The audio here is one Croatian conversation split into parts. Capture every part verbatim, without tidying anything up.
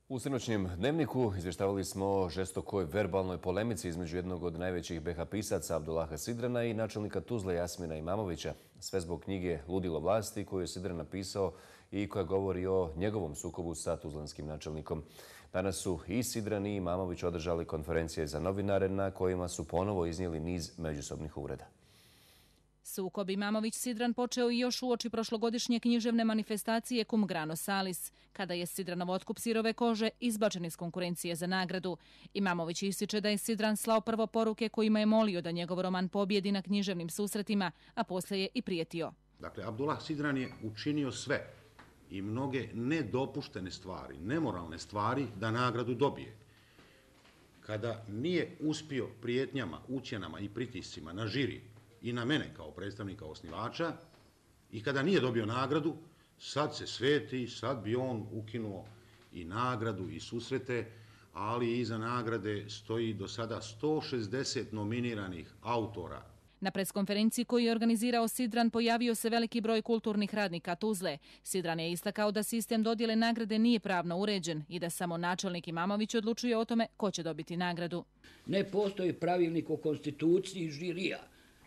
U sinoćnjem dnevniku izvještavali smo o žestokoj verbalnoj polemici između jednog od najvećih be ha pisaca Abdullaha Sidrana i načelnika Tuzle Jasmina Imamovića. Sve zbog knjige Ludilo vlasti koju je Sidran napisao i koja govori o njegovom sukobu sa tuzlanskim načelnikom. Danas su i Sidran i Imamović održali konferencije za novinare na kojima su ponovo iznijeli niz međusobnih uvreda. Sukob Imamović-Sidran počeo i još uoči prošlogodišnje književne manifestacije Cum grano salis, kada je Sidranov otkup sirove kože izbačen iz konkurencije za nagradu. Imamović ističe da je Sidran slao prvo poruke kojima je molio da njegov roman pobjedi na književnim susretima, a poslije je i prijetio. Dakle, Abdullah Sidran je učinio sve i mnoge nedopuštene stvari, nemoralne stvari da nagradu dobije. Kada nije uspio prijetnjama, ucjenama i pritiscima na žiri i na mene kao predstavnika osnivača, i kada nije dobio nagradu, sad se sveti, sad bi on ukinuo i nagradu i susrete, ali iza nagrade stoji do sada sto šezdeset nominiranih autora. Na preskonferenciji koju je organizirao Sidran pojavio se veliki broj kulturnih radnika Tuzle. Sidran je istakao da sistem dodjele nagrade nije pravno uređen i da samo načelnik Imamović odlučuje o tome ko će dobiti nagradu. Ne postoji pravilnik o konstituciji žirija,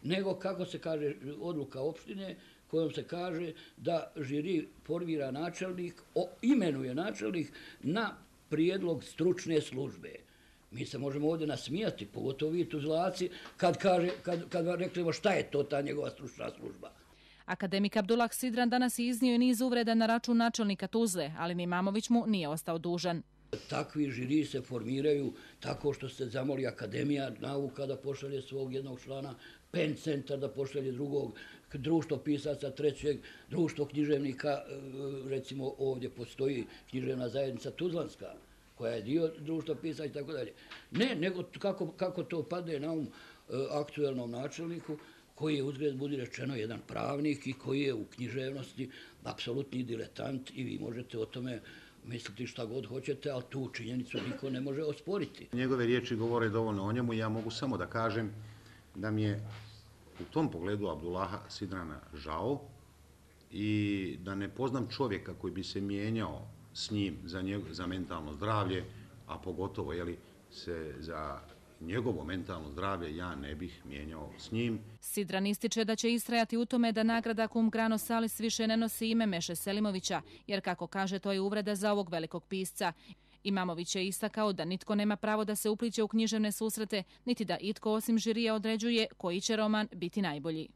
nego, kako se kaže, odluka opštine kojom se kaže da žiri formira načelnik, imenuje načelnik na prijedlog stručne službe. Mi se možemo ovdje nasmijati, pogotovo vi Tuzlaci, kad, kaže, kad, kad vam reklimo šta je to ta njegova stručna služba. Akademik Abdullah Sidran danas je iznio niz uvreda na račun načelnika Tuzle, ali Imamović mu nije ostao dužan. Takvi žiri se formiraju tako što se zamoli Akademija nauka da pošalje svog jednog člana, Pen centar da pošalje drugog, društvo pisaca trećeg, društvo književnika, recimo ovdje postoji književna zajednica Tuzlanska, koja je dio društva pisaca i tako dalje. Ne, nego kako, kako to padne na um aktuelnom načelniku, koji je, uzgled budi rečeno, jedan pravnik i koji je u književnosti apsolutni diletant i vi možete o tome misliti šta god hoćete, ali tu činjenicu niko ne može osporiti. Njegove riječi govore dovoljno o njemu i ja mogu samo da kažem da mi je u tom pogledu Abdullaha Sidrana žao i da ne poznam čovjeka koji bi se mijenjao s njim za, njeg, za mentalno zdravlje, a pogotovo jeli, se za njegovo mentalno zdravlje ja ne bih mijenjao s njim. Sidran ističe da će istrajati u tome da nagrada Cum grano salis više ne nosi ime Meše Selimovića, jer kako kaže to je uvreda za ovog velikog pisca. Imamović je istakao da nitko nema pravo da se upliće u književne susrete, niti da itko osim žirija određuje koji će roman biti najbolji.